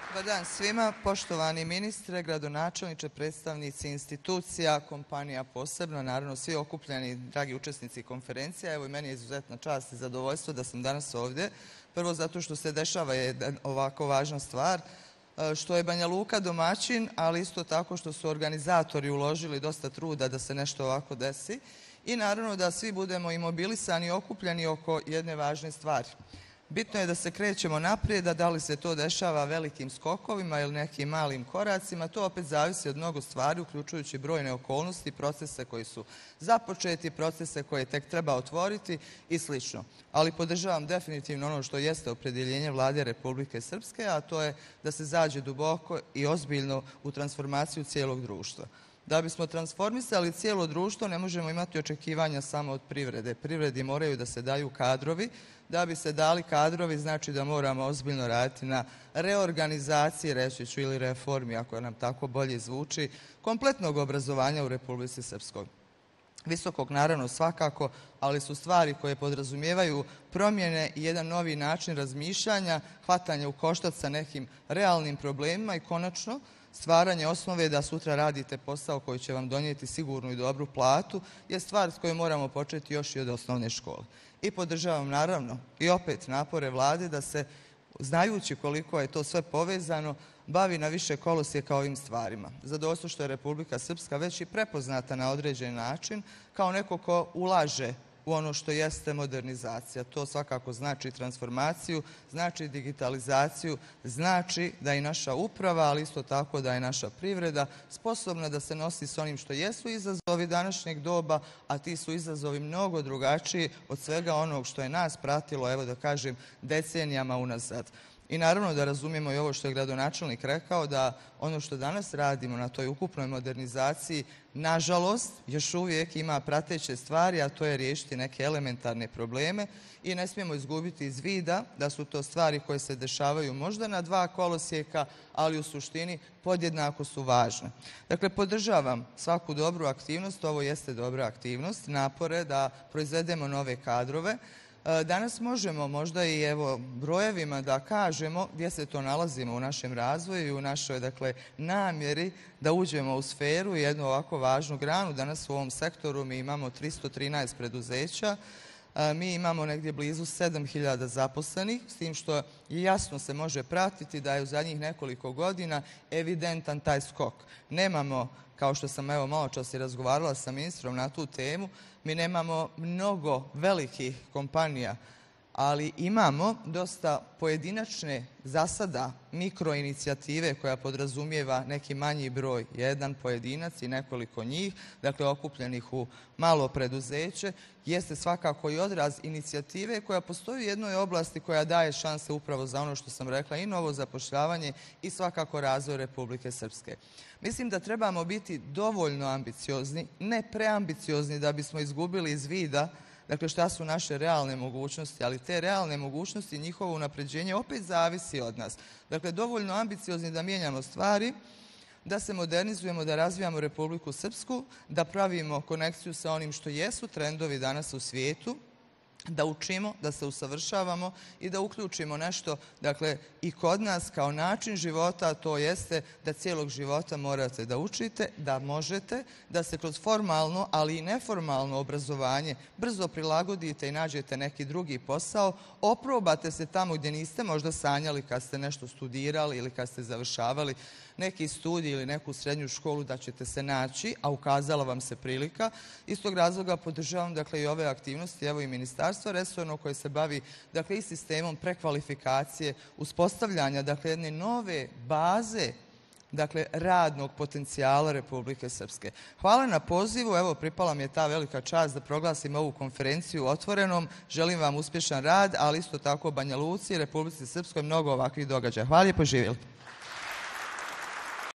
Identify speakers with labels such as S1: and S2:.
S1: Dobar dan svima, poštovani ministre, gradonačelniče, predstavnici institucija, kompanija posebno, naravno svi okupljeni, dragi učesnici konferencija. Evo i meni je izuzetna čast i zadovoljstvo da sam danas ovdje. Prvo zato što se dešava jedna ovako važna stvar, što je Banja Luka domaćin, ali isto tako što su organizatori uložili dosta truda da se nešto ovako desi i naravno da svi budemo imobilisani i okupljeni oko jedne važne stvari. Bitno je da se krećemo naprijed, a da li se to dešava velikim skokovima ili nekim malim koracima, to opet zavisi od mnogo stvari, uključujući brojne okolnosti, procese koji su započeti, procese koje tek treba otvoriti i sl. Ali podržavam definitivno ono što jeste opredjeljenje Vlade Republike Srpske, a to je da se zađe duboko i ozbiljno u transformaciju cijelog društva. Da bismo transformisali cijelo društvo ne možemo imati očekivanja samo od privrede. Privredi moraju da se daju kadrovi. Da bi se dali kadrovi znači da moramo ozbiljno raditi na reorganizaciji, reći ću, ili reformi, ako nam tako bolje zvuči, kompletnog obrazovanja u Republici Srpskoj. Visokog naravno svakako, ali su stvari koje podrazumijevaju promjene i jedan novi način razmišljanja, hvatanje u koštac sa nekim realnim problemima i konačno stvaranje osnove da sutra radite posao koji će vam donijeti sigurnu i dobru platu je stvar s kojom moramo početi još i od osnovne škole. I podržavam naravno i opet napore Vlade da se, znajući koliko je to sve povezano, bavi na više kolosijeka ovim stvarima. Zadovoljstvo što je Republika Srpska već i prepoznata na određen način kao neko ko ulaže u ono što jeste modernizacija. To svakako znači transformaciju, znači digitalizaciju, znači da je naša uprava, ali isto tako da je naša privreda sposobna da se nosi s onim što jesu izazovi današnjeg doba, a ti su izazovi mnogo drugačiji od svega onog što je nas pratilo, evo da kažem, decenijama unazad. I naravno da razumijemo i ovo što je gradonačelnik rekao, da ono što danas radimo na toj ukupnoj modernizaciji, nažalost, još uvijek ima prateće stvari, a to je riješiti neke elementarne probleme i ne smijemo izgubiti iz vida da su to stvari koje se dešavaju možda na dva kolosijeka, ali u suštini podjednako su važne. Dakle, podržavam svaku dobru aktivnost, ovo jeste dobra aktivnost, napore da proizvedemo nove kadrove. Danas možemo možda i evo brojevima da kažemo gdje se to nalazimo u našem razvoju i u našoj namjeri da uđemo u sferu i jednu ovako važnu granu. Danas u ovom sektoru mi imamo 313 preduzeća, mi imamo negdje blizu 7.000 zaposlenih, s tim što jasno se može pratiti da je u zadnjih nekoliko godina evidentan taj skok. Nemamo, kao što sam evo malo čas i razgovarala sa ministrom na tu temu, mi nemamo mnogo velikih kompanija, ali imamo dosta pojedinačne za sada mikroinicijative koja podrazumijeva neki manji broj, jedan pojedinac i nekoliko njih, dakle okupljenih u malo preduzeće, jeste svakako i odraz inicijative koja postoji u jednoj oblasti koja daje šanse upravo za ono što sam rekla, i novo zapošljavanje i svakako razvoj Republike Srpske. Mislim da trebamo biti dovoljno ambiciozni, ne preambiciozni da bismo izgubili iz vida dakle šta su naše realne mogućnosti, ali te realne mogućnosti i njihovo unapređenje opet zavisi od nas. Dakle, dovoljno ambiciozni da mijenjamo stvari, da se modernizujemo, da razvijamo Republiku Srpsku, da pravimo konekciju sa onim što jesu trendovi danas u svijetu, da učimo, da se usavršavamo i da uključimo nešto, dakle, i kod nas kao način života, a to jeste da cijelog života morate da učite, da možete, da se kroz formalno, ali i neformalno obrazovanje brzo prilagodite i nađete neki drugi posao, oprobate se tamo gdje niste možda sanjali kad ste nešto studirali ili kad ste završavali neki studij ili neku srednju školu da ćete se naći, a ukazala vam se prilika. Iz tog razloga podržavam dakle i ove aktivnosti, evo i ministarstvo resorno koje se bavi dakle i sistemom prekvalifikacije, uspostavljanja dakle jedne nove baze dakle radnog potencijala Republike Srpske. Hvala na pozivu, evo pripala mi je ta velika čast da proglasim ovu konferenciju otvorenom. Želim vam uspješan rad, ali isto tako Banja Luci i Republici Srpskoj mnogo ovakvih događaja. Hvala i poživjeli.